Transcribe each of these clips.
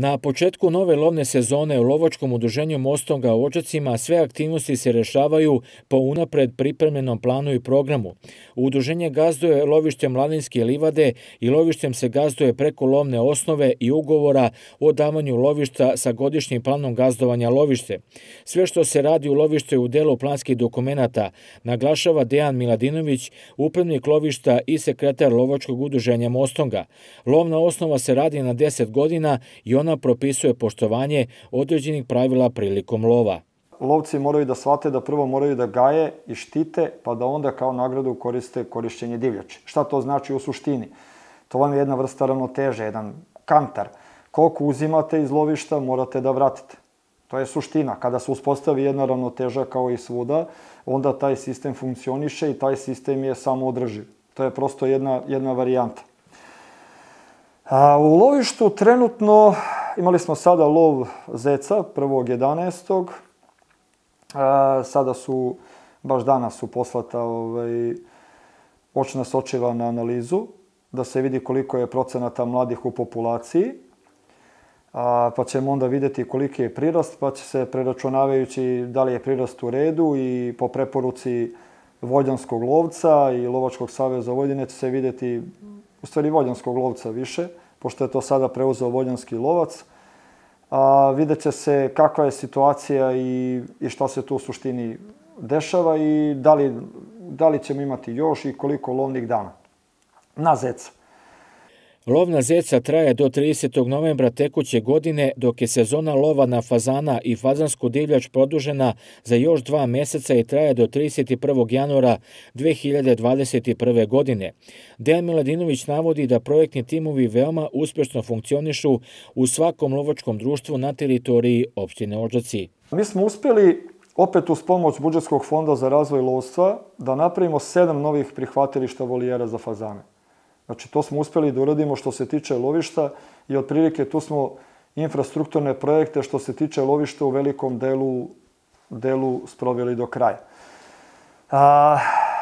Na početku nove lovne sezone u lovačkom udruženju Mostonga u Odžacima sve aktivnosti se rešavaju po unapred pripremljenom planu i programu. Udruženje gazduje lovištem Mladinske livade i lovištem se gazduje preko lovne osnove i ugovora o davanju lovišta sa godišnjim planom gazdovanja lovište. Sve što se radi u lovištu je u delu planskih dokumenata, naglašava Dejan Miladinović, upravnik lovišta i sekretar lovačkog udruženja Mostonga. Lovna osnova se radi na 10 godina i ona propisuje poštovanje određenih pravila prilikom lova. Lovci moraju da shvate da prvo moraju da gaje i štite, pa da onda kao nagradu koriste korišćenje divljači. Šta to znači u suštini? To vam je jedna vrsta ravnoteže, jedan kantar. Koliko uzimate iz lovišta, morate da vratite. To je suština. Kada se uspostavi jedna ravnoteža kao i svuda, onda taj sistem funkcioniše i taj sistem je samoodrživ. To je prosto jedna varijanta. U lovištu trenutno imali smo sada lov zeca 1.11. Sada su, baš danas su poslata očna sočiva na analizu, da se vidi koliko je procenata mladih u populaciji, pa ćemo onda vidjeti koliki je prirast, pa će se preračunavajući da li je prirast u redu i po preporuci Vojvođanskog lovca i Lovačkog saveza Vojvodine će se vidjeti, u stvari Vojvođanskog lovca više, pošto je to sada preuzeo Vojvođanski lovac. Vidjet će se kakva je situacija i šta se tu u suštini dešava i da li ćemo imati još i koliko lovnih dana na zeca. Lov na zeca traje do 30. novembra tekuće godine, dok je sezona lova na fazana i fazansku divljač produžena za još 2 meseca i traje do 31. januara 2021. godine. Dejan Miladinović navodi da projektni timovi veoma uspešno funkcionišu u svakom lovačkom društvu na teritoriji opštine Odžaci. Mi smo uspjeli, opet uz pomoć budžetskog fonda za razvoj lovstva, da napravimo 7 novih prihvatilišta volijera za fazane. Znači, to smo uspjeli da uradimo što se tiče lovišta i otprilike tu smo infrastrukturne projekte što se tiče lovišta u velikom delu sproveli do kraja.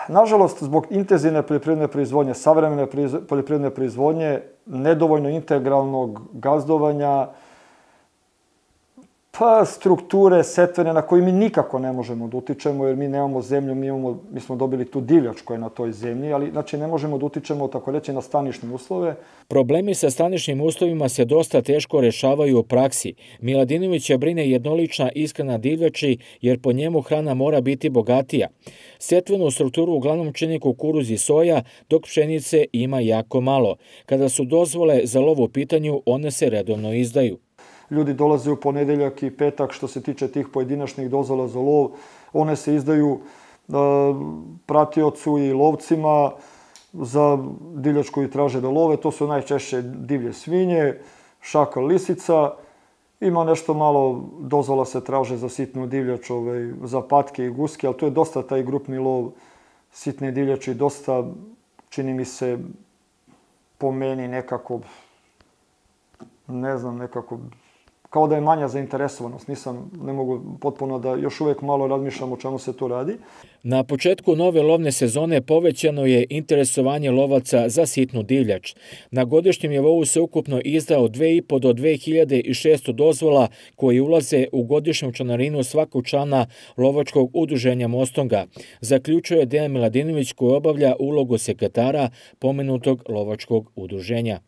Nažalost, zbog intenzivne poljoprivredne proizvodnje, savremene poljoprivredne proizvodnje, nedovoljno integralnog gazdovanja, pa strukture setvene na koje mi nikako ne možemo da utičemo, jer mi nemamo zemlju, mi smo dobili tu divljač koja je na toj zemlji, ali znači ne možemo da utičemo, tako reći, na stanične uslove. Problemi sa staničnim uslovima se dosta teško rešavaju u praksi. Miladinovića brine jednolična ishrana divljači, jer po njemu hrana mora biti bogatija. Setvenu strukturu uglavnom čini kukuruz i soja, dok pšenice ima jako malo. Kada su dozvole za lov u pitanju, one se redovno izdaju. Ljudi dolaze u ponedeljak i petak što se tiče tih pojedinačnih dozvola za lov. One se izdaju pratiocu i lovcima za divljač koji traže da love. To su najčešće divlje svinje, šakal, lisica. Ima nešto malo dozvola se traže za sitnu divljač, za patke i guske, ali to je dosta taj grupni lov sitne divljači. Dosta, čini mi se, po meni nekako, ne znam, nekako kao da je manja zainteresovanost. Ne mogu potpuno da još uvijek malo razmišljam o čemu se tu radi. Na početku nove lovne sezone povećano je interesovanje lovaca za sitnu divljač. Na godišnjem nivou se ukupno izdao 2.500 do 2.600 dozvola koji ulaze u godišnju članarinu svakog člana lovačkog udruženja Mostonga, zaključuje Dejan Miladinović koji obavlja ulogu sekretara pomenutog lovačkog udruženja.